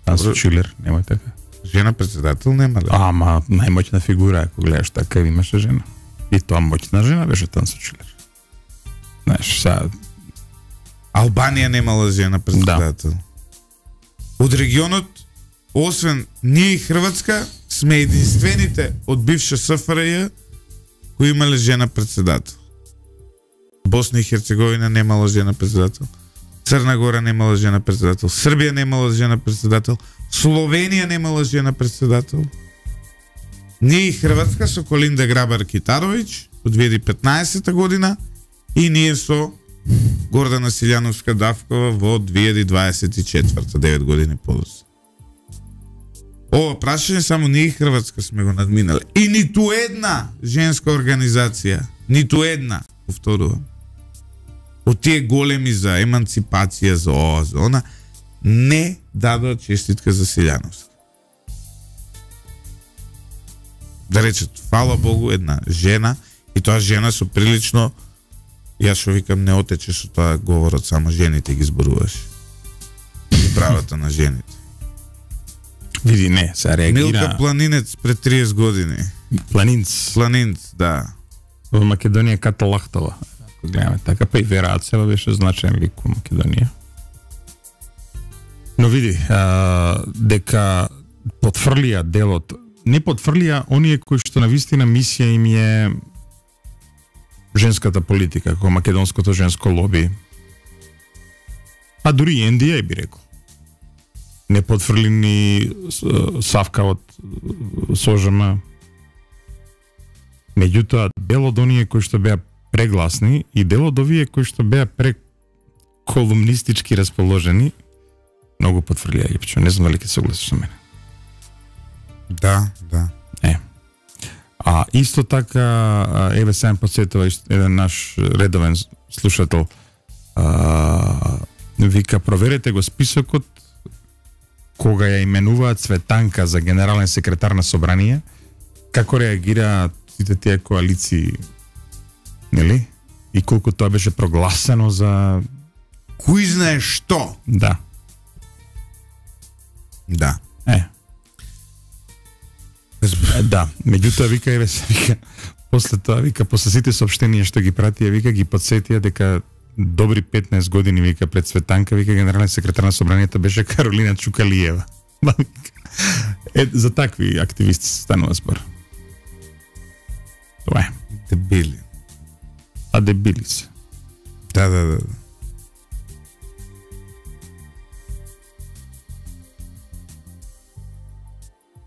Тансо Чилер, нема така. Жена председател нема ли? Ама најмоќна фигура, ако гледаш така, имаше жена. И тоа моќна жена беше Тансо Чилер. Знаеш, сега... Албанија немала жена председател. Да. Од регионот, освен ние и Хрватска, сме единствените од бивша СФРЈ кои имале жена председател. Босна и Херцеговина немала жена председател. Црна Гора немала жена председател. Србија немала жена председател. Словенија немала жена председател. Ние и Хрватска со Колинда Грабар-Китаровиќ од 2015 година и ние со Гордана Силјановска-Давкова во 2024, 9 години подоцна. Ова прашање само ние и Хрватска сме го надминале. И ниту една женска организација, ниту една, повторувам, од тие големи за еманципација, за ова, за она, не дадоа честитка за Силјановска. Да речат, фала Богу, една жена, и тоа жена со прилично, јас што викам, не отече со тоа говорот, само жените ги зборуваш. И правата на жените. Види, не, се реагира... Милка Планинец пред 30 години. Планинц, да. Во Македонија Ката Лахтова. Ако гледаме така, па и Вера Ацева беше значаен лик во Македонија. Но види, дека потврлија делот, не потврлија оние кои што на вистина мисија им е женската политика, како македонското женско лоби. А дури и НДА би рекол. Не потврли ни Савка од СОЖМ. Меѓутоа, дел од оние кои што беа прегласни и дел од овие кои што беа преколумнистички расположени, многу потврлија Липчо. Не знам дали ќе се согласиш со мене. Да. А исто така, еве сега подсетува еден наш редовен слушател, вика, проверете го списокот кога ја именуваат Цветанка за генерален секретар на собрание, како реагираат сите тие коалиции, нели? И колку тоа беше прогласено за... Кој знае што? Да. Да. Да, меѓутоа вика после тоа вика после сите соопштенија што ги пратија вика ги подсетија дека добри 15 години вика пред Цветанка вика генерален секретар на собранието беше Каролина Чукалиева. За такви активисти станува збор. Тоа е. Дебили. А дебили се. Да.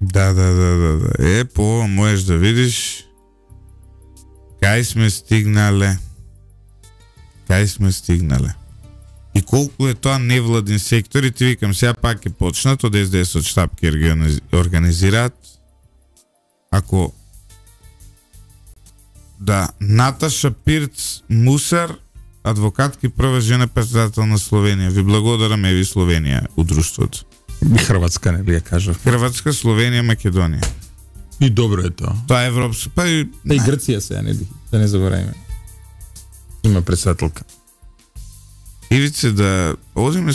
Да. По можеш да видиш кај сме стигнале. И колку е тоа невладин сектор, и ти викам, сега пак е почнат од СДС од штаб ги организираат. Ако Наташа Пирц Мусар, адвокатки, прва жена председател на Словенија. Ви благодарам, еви Словенија, удружството. Хрватска, не би ја кажав. Хрватска, Словенија, Македонија. И добро е тоа. Тоа е европско, и Грција се, да не забораваме. Има председателка. Ивице, да одиме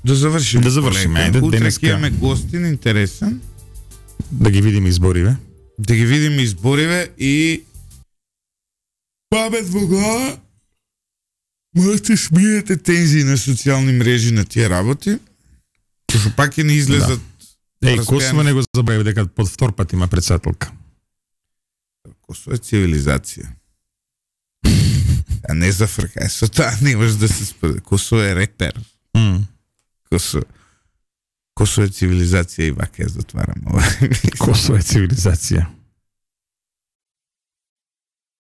да завршиме. Ајде, утре ќе имаме гостин интересен. Да ги видиме избориве. И памет во глава. Можете смиете тензии на социјални мрежи на тие работи. Што пак не излезат. Косово не го забрави дека под втор пат има председателка. Косово е цивилизација. А не зафркај со тоа, немаш да се споди. Косово е репер. Косово е цивилизација и вака ја затварам ова. Косово е цивилизација.